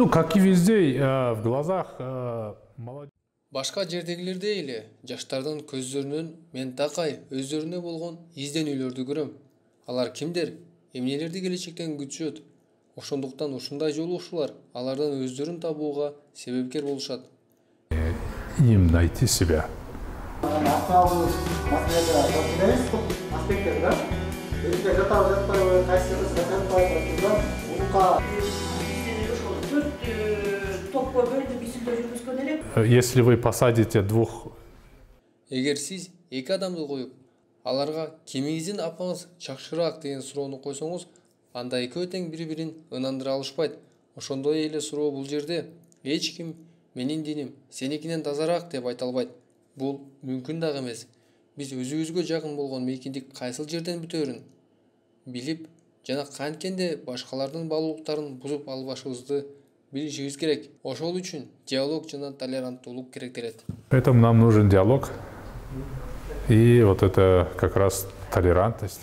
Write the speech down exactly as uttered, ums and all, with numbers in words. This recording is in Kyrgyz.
Ну, как и везде, в глазах молодежи. Башка жердегилердей эле жаштардын көздөрүнөн мен такай өздөрүнө болгон изденүүлөрдү көрөм. Алар кимдер, эмнелерди келечектен күтүшөт. Ошондуктан ушундай жолугушуулар алардын өздөрүн табууга себепкер болушат. Им найти себя. Если вы посадите двух... Эгер сиз эки адамды коюп, аларга кимиңиздин апаңыз жакшыраак деген суроону койсоңуз, анда экөө тең бири-бирин ынандыра алышпайт. Ошондой эле суроо бул жерде эч ким менин диним сеникинен тазараак деп айта албайт. Бул мүмкүн дагы эмес. Биз өзүбүзгө жакын болгон мейкиндик кайсыл жерден бүтөөрүн билип жана канткенде башкалардын баалуулуктарын бузуп албашыбызды билишибиз керек. Ошол үчүн диалог жана толеранттуулук керектелет. Поэтому нам нужен диалог и вот это как раз толерантность.